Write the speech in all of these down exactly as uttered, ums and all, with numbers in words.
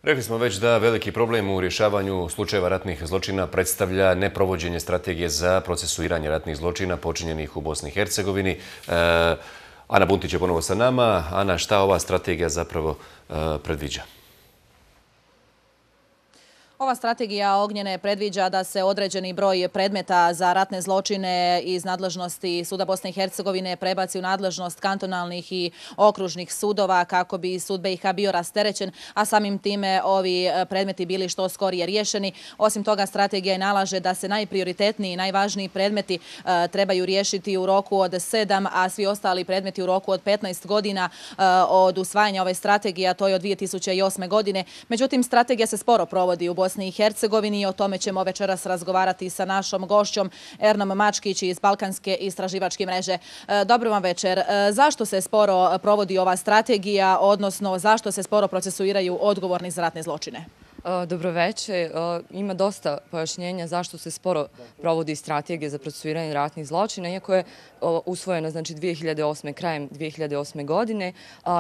Rekli smo već da veliki problem u rješavanju slučajeva ratnih zločina predstavlja neprovođenje strategije za procesuiranje ratnih zločina počinjenih u Bosni i Hercegovini. E, Ana Buntić je ponovo sa nama. Ana, šta ova strategija zapravo e, predviđa? Ova strategija Ognjene predviđa da se određeni broj predmeta za ratne zločine iz nadležnosti Suda Bosne i Hercegovine prebaci u nadležnost kantonalnih i okružnih sudova kako bi sud B i H bio rasterećen, a samim time ovi predmeti bili što skorije riješeni. Osim toga, strategija je nalaže da se najprioritetniji i najvažniji predmeti e, trebaju riješiti u roku od sedam, a svi ostali predmeti u roku od petnaest godina e, od usvajanja ove strategije, a to je od dvije tisuće osme. godine. Međutim, strategija se sporo provodi u Bosni i Hercegovini i o tome ćemo večeras razgovarati sa našom gošćom Ernom Mačkić iz Balkanske istraživačke mreže. Dobro vam večer. Zašto se sporo provodi ova strategija, odnosno zašto se sporo procesuiraju odgovorni za ratne zločine? Dobro večer. Ima dosta pojašnjenja zašto se sporo provodi strategija za procesuiranje ratnih zločina, iako je usvojena znači dvije hiljade osme. krajem dvije hiljade osme. godine.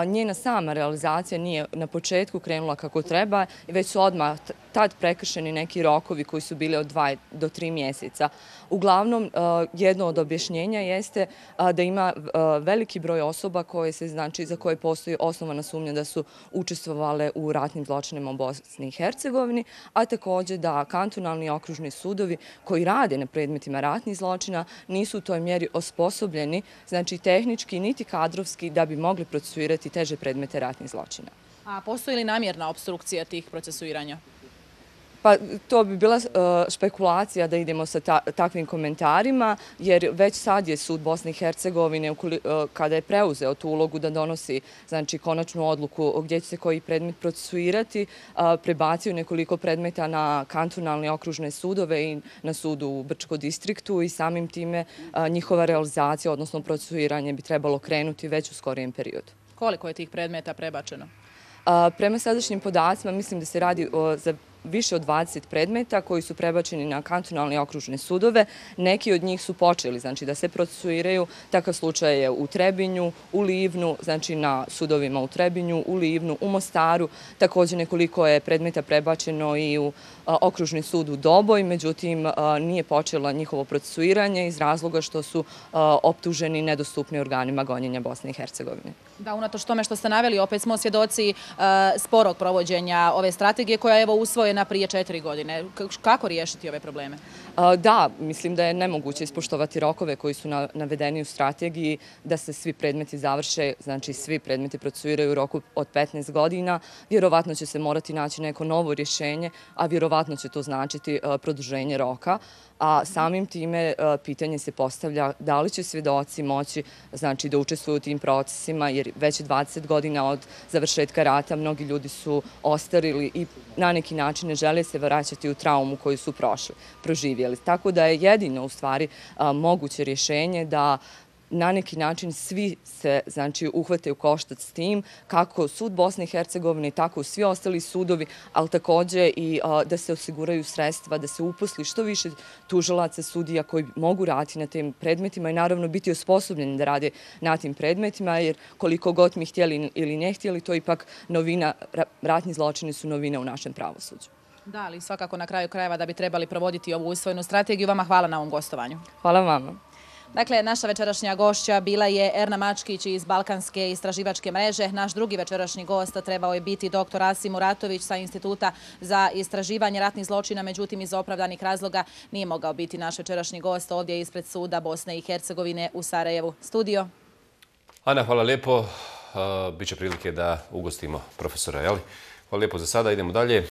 Njena sama realizacija nije na početku krenula kako treba i već su odmah tad prekršeni neki rokovi koji su bili od dva do tri mjeseca. Uglavnom, jedno od objašnjenja jeste da ima veliki broj osoba koje se, znači, za koje postoji osnovana sumnja da su učestvovale u ratnim zločinima u Bosni i Hercegovini, a također da kantonalni i okružni sudovi koji rade na predmetima ratnih zločina nisu u toj mjeri osposobljeni, znači tehnički niti kadrovski, da bi mogli procesuirati teže predmete ratnih zločina. A postoji li namjerna obstrukcija tih procesuiranja? Pa to bi bila špekulacija da idemo sa takvim komentarima, jer već sad je sud Bosne i Hercegovine, kada je preuzeo tu ulogu da donosi znači, konačnu odluku gdje će se koji predmet procesuirati, prebacio nekoliko predmeta na kantonalne okružne sudove i na sudu u Brčkom distriktu i samim time njihova realizacija, odnosno procesuiranje, bi trebalo krenuti već u skorijem periodu. Koliko je tih predmeta prebačeno? Prema sadašnjim podacima mislim da se radi za više od dvadeset predmeta koji su prebačeni na kantonalne i okružne sudove. Neki od njih su počeli znači, da se procesuiraju. Takav slučaj je u Trebinju, u Livnu, znači na sudovima u Trebinju, u Livnu, u Mostaru. Također nekoliko je predmeta prebačeno i u okružni sud u Doboj, međutim nije počelo njihovo procesuiranje iz razloga što su optuženi nedostupni organima gonjenja Bosne i Hercegovine. Da, unatoč tome što ste naveli, opet smo svjedoci sporog provođenja ove strategije koja je evo usvojena prije četiri godine. Kako riješiti ove probleme? Da, mislim da je nemoguće ispoštovati rokove koji su navedeni u strategiji da se svi predmeti završe, znači svi predmeti procesuiraju u roku od petnaest godina. Vjerovatno će se morati naći neko novo rješenje, a vjerovatno će to značiti produženje roka. A samim time pitanje se postavlja da li će svjedoci moći znači, da učestvuju u tim procesima, jer već dvadeset godina od završetka rata mnogi ljudi su ostarili i na neki način ne žele se vraćati u traumu koju su prošli, proživjeli. Tako da je jedino u stvari moguće rješenje da na neki način svi se znači, uhvate u koštac s tim, kako sud Bosne i Hercegovine, tako i svi ostali sudovi, ali također i a, da se osiguraju sredstva, da se uposli što više tužilaca, sudija koji mogu raditi na tim predmetima i naravno biti osposobljeni da rade na tim predmetima, jer koliko god mi htjeli ili ne htjeli, to je ipak novina, ratni zločini su novina u našem pravosuđu. Da, ali svakako na kraju krajeva da bi trebali provoditi ovu usvojenu strategiju. Vama hvala na ovom gostovanju. Hvala vama. Dakle, naša večerašnja gošća bila je Erna Mačkić iz Balkanske istraživačke mreže. Naš drugi večerašnji gost trebao je biti doktor Asim Muratović sa Instituta za istraživanje ratnih zločina, međutim iz opravdanih razloga nije mogao biti naš večerašnji gost ovdje ispred Suda Bosne i Hercegovine u Sarajevu. Studio. Ana, hvala lijepo. Biće prilike da ugostimo profesora, jel? Hvala lijepo za sada, idemo dalje.